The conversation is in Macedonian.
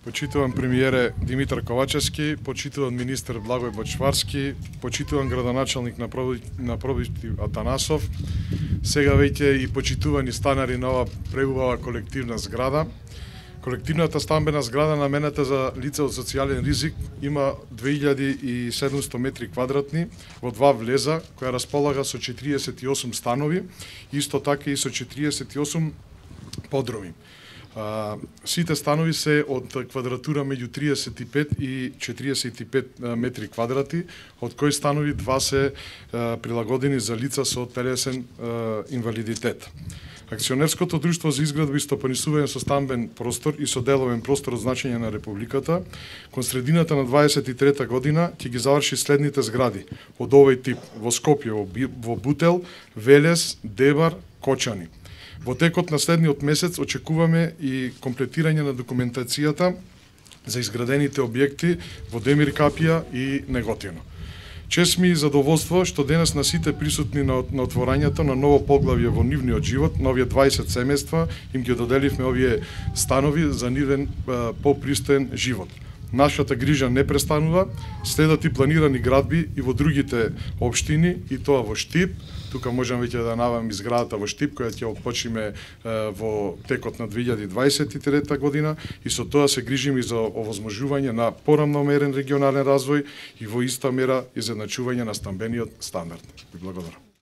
Почитуван премиере Димитар Ковачевски, почитуван министер Благој Бочварски, почитуван градоначалник на Пробити Атанасов, сега веќе и почитувани станари на ова преубава колективна зграда. Колективната стамбена зграда намената за лица од социјален ризик има 2700 метри квадратни во два влеза, која располага со 48 станови, исто така и со 48 подроми. Сите станови се од квадратура меѓу 35 и 45 метри квадрати, од кои станови два се прилагодени за лица со телесен инвалидитет. Акционерското друштво за изградба и стопанисување со стамбен простор и со деловен простор од значење на Републиката, кон средината на 23 година ќе ги заврши следните згради од овој тип во Скопје, во Бутел, Велес, Дебар, Кочани. Во текот на следниот месец очекуваме и комплетирање на документацијата за изградените објекти во Демир Капија и Неготино. Чест ми и задоволство што денес на сите присутни на отворањето на ново поглавје во нивниот живот, на овие 20 семејства, им ги доделивме овие станови за нивен попристоен живот. Нашата грижа не престанува, следат и планирани градби и во другите општини, и тоа во Штип. Тука можам веќе да навам изградата во Штип, која ќе почиме во текот на 2023 година, и со тоа се грижиме и за овозможување на порамномерен регионален развој и во иста мера изедначување на стамбениот стандард. Ви благодарам.